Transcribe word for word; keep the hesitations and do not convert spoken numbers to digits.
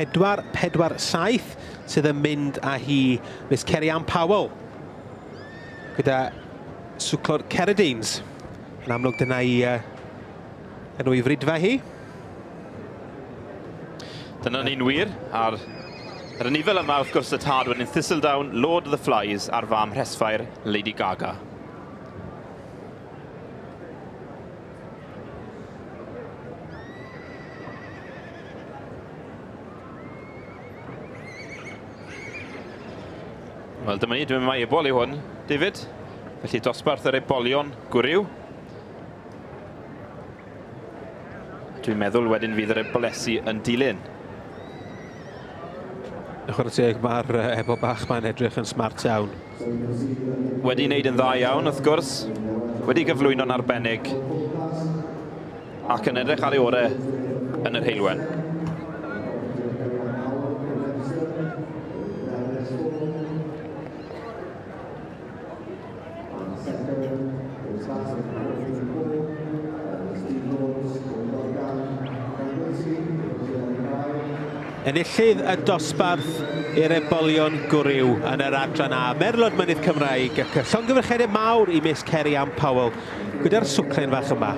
pedwar pedwar saith sydd yn mynd â hi Miss Kerry Ann Powell gyda swclod Ceradines. Yn amlwg dyna i uh, enw i fridfa hi. Dyna ni'n wir, a'r yr anifail yma wrth gwrs y tad wedyn Thistledown, Lord of the Flies a'r fam Rhesfair, Lady Gaga. Wel, dyma ni, dwi'n meddwl mai ebol yw hwn, David. Felly dosbarth yr ebolion gwryw. Dwi'n meddwl wedyn fydd yr ebolesi yn dilyn. Chwarae teg, mae'r ebol bach ma'n edrych yn smart iawn. Wedi wneud yn dda iawn, wrth gwrs. Wedi gyflwyno'n arbennig. Ac yn edrych ar ei orau yn yr heulwen. Enillydd y dosbarth i'r ebolion gwryw yn yr adran A, Merlod Mynydd Cymraeg, ac llongyfarchiadau mawr i Miss Kerry Ann Powell gyda'r swclen fach yma.